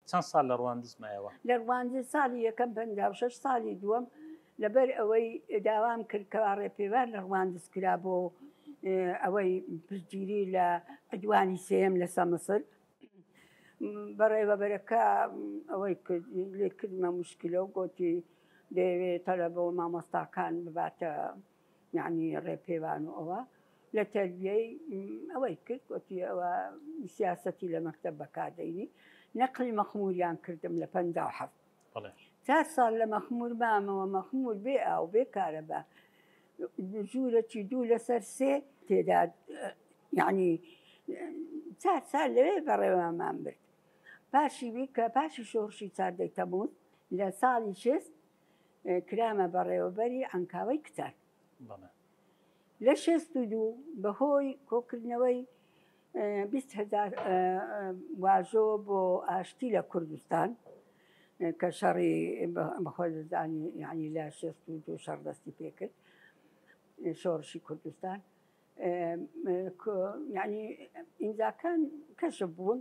چەند ساڵ لە ڕواندز مایەوە؟ لە ڕواندز ساڵی یەکەم 56، ساڵی دووەم لەبەر ئەوەی داوام کرد کەوا ڕێپێوان لە ڕواندز کرا بۆ ئەوەی پشتگیری لە عدوانی سێیەم لەسە مسر، بەڕێوەبەرەکە ئەوەی کرد لێ کردمە مشکلە و گۆتی دەیەوێ تەلەبە و مامۆستاکان بباتە یعنی ڕێپێوان و ئەوە لە تەربیەی ئەوەی کرد گۆتی ئەوە سیاسەتی لە مەکتەب بەکاردەینی نەقلی مەخموریان کردم لە 57. 4 ساڵ لە مەخمور مامەوە، مەخمور بێ ئاو بێ کارەبا، ژوورەکی 2 لەسەر 3 تێدا، یعنی 4 سال لەوێ بەڕێوەمان برد. پاشی بی کە پاشی شۆڕشی 14ی تەمووز لە ساڵی 60 کرامە بەڕێوەبەری عەنکاوەی کچان. لە 62 بەهۆی کۆکردنەوەی 20 هەزار واژۆ بۆ ئاشتی لە کوردستان کە شەڕی بەخۆزانی یعنی لە 62 شەڕ دەستی پێکرد شۆڕشی کوردستان، یعنی ئیمزاکان کەشف بوون،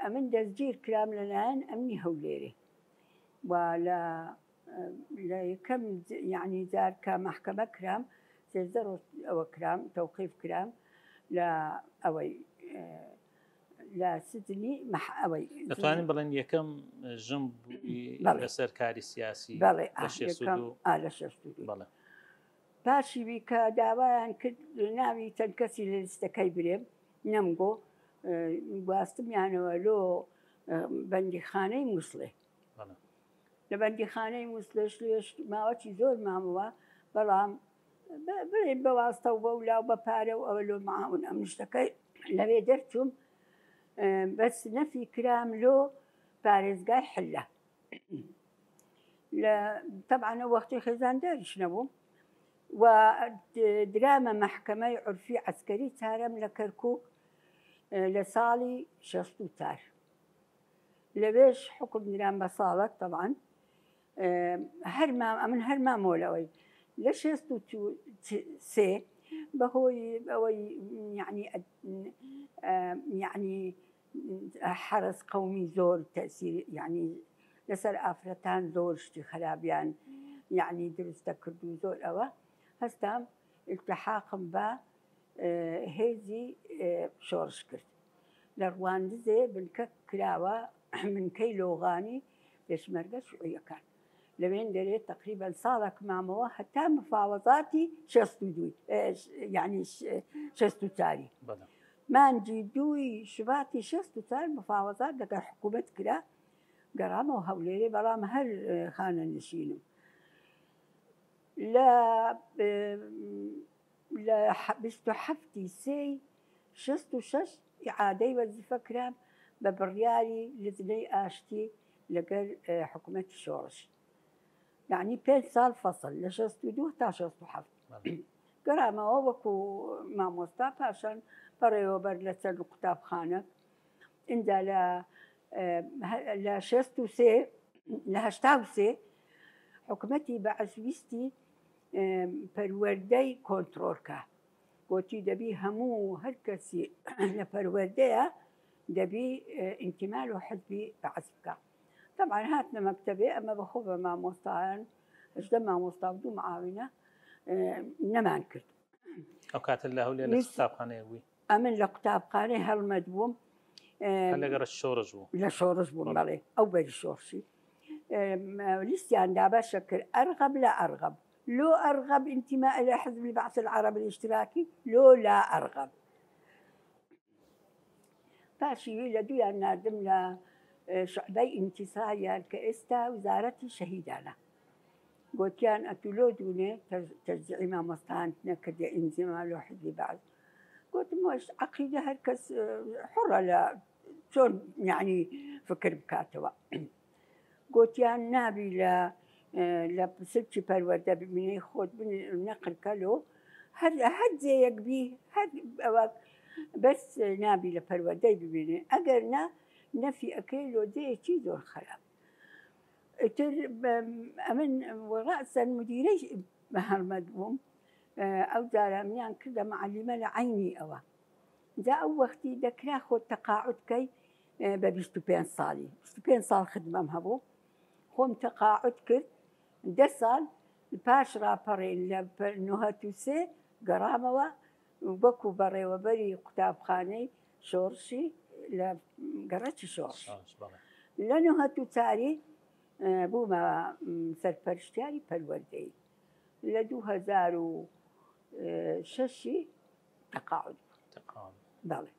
ئەمن دەستگیر کرام لەلایەن ئەمنی هەولێرێ و لە یەکەم یعنی جار کە مەحکەمە کرام 13 ڕۆژ ئەوە کرام تەوقیف کرام لە ئەوەی لە سجنی ئەوەی. دەتوانین بڵێن یەکەم ژن بووی لەسەر کاری سیاسی؟ بەڵێ. لە 62؟ لە 62. بەڵێ. پاشی بی کە داوایان کرد ناوی چەند کەسی لە لیستەکەی برێم، نەمگۆ، گواستمیانەوە لۆ بەندیخانەی مووسڵێ. لە بەندیخانەی مووسڵێش لێش ماوەکی زۆر مامەوە، بەڵام بڵێن بە واستە و بەولا و بە پارە و ئەوە لۆ معاون ئەم شتەکەی لەوێ دەرچووم، بەس نەفی کرام لۆ پارێزگای حلە. لە تەبعەن ئەو وەختی خێزانداریش نەبووم و درامە مەحکەمەی عورفی عەسکەری چارەم لە کەرکووک لە ساڵی 64. لەوێش حکم درام بە ساڵک تەبعەن. هەر مام ئەمن هەر مامەوە لەوەی لە 63 بەهۆی ئەوەی یعنی یعنی حەرەس قەومی زۆر تەسیر یعنی لەسەر ئافرەتان زۆر شتی خرابیان یعنی دروستە کرد و زۆر ئەوە هەستام التحاقم بە هێزی شۆڕش کرد. لە ڕواندزێ بنکە کراوە، بنکەی لۆغانی پێشمەرگە شوعیەکان لەوێن دەرێ تقریبا ساڵێک مامەوە هەتا مفاوەزاتی 62، یعنی 64ی مانگی 2ی شوباتی 64 مفاوەزات لەگەڵ حکوومەت کرا، گەڕامەوە هەولێرێ، بەڵام هەر خانە نشینم. لە لە 27ی سێی 66 ئیعادەی وەزیفە کرام بە بڕیاری لجنەی ئاشتی لەگەر حکوومەتی شۆڕش، یعنی 5 ساڵ فەصل لە 62 تا 67 گەڕامەوە وەکو مامۆستا، پاشان بەڕێوەبەر لە چەند قوتابخانە. ئینجا لە 63 لە 83 حکوومەتی بەعس ویستی پەروەردەی کۆنترۆلکە، گوتی دەبی هەموو هەر کەسی لە پەروەردەیە دەبی ئینتیمال و حزبی بەعس بکە. طبعا هاتنە مەکتەبێ ئەمە بەخۆ بە مامۆستایان 18 مامۆستا و 2 معاونە نەمان کرد. ئەو کاتە لە هەولێر لە قوتابخانەیە بووی؟ ئەمن لە قوتابخانەی هەڵمەت بووم. لەگەڕ شۆڕش بوو؟ لە شۆڕش بووم بەڵێ، ئەو بەری شۆڕشی. لیستیان دابەشە کرد ئەرغەب لە ئەرغەب، لۆ ئەرغەب انتماء الى حزب البعث العربي الاشتراكي لۆ لا ئەرغەب. پاشی وی لە دویان ناردم لە شعبەی ئینتیساریان کە ئێستا وزارەتی شەهیدانە، گوتیان ئەتو لۆ دوونێ تەشجیعی مامۆستان نەکردێ ئینتیما لۆ حزبی بەعس؟ گوتم وەش عەقیدە هەر کەس حڕە لە چۆن یعنی فکر بکاتەوە. گوتیان نابی لە سلکی پەروەردە ببینەی خۆت نەقلکە لۆ هەر جێیەک بی، هەر ئەوە بەس نابی لە پەروەردەی ببینێ، ئەگەر نا نەفی ئەکەی لۆ جێیەکی زۆر خراپ. ئیتر ئەمن ڕەسەن مدیرەی هەڵمەت بووم، ئەو جارە منیان کردە معەلیمە لە عەینی ئەوە. جا ئەو وەختی دەکرا خۆت تەقاعد کەی. بە 25 ساڵی 25 ساڵ خدمەم هەبوو خۆم تەقاعد کرد دە ساڵ پاش ڕاپەڕین لە 93 گەڕامەوە وەکو بەڕێوەبەری قوتابخانەی شۆڕشی لە گەڕەکی شۆڕش لە نهەت و چاری بوومە سەرپەرشتیاری پەروەردەی لە 2006 تەقاعد بەڵێ.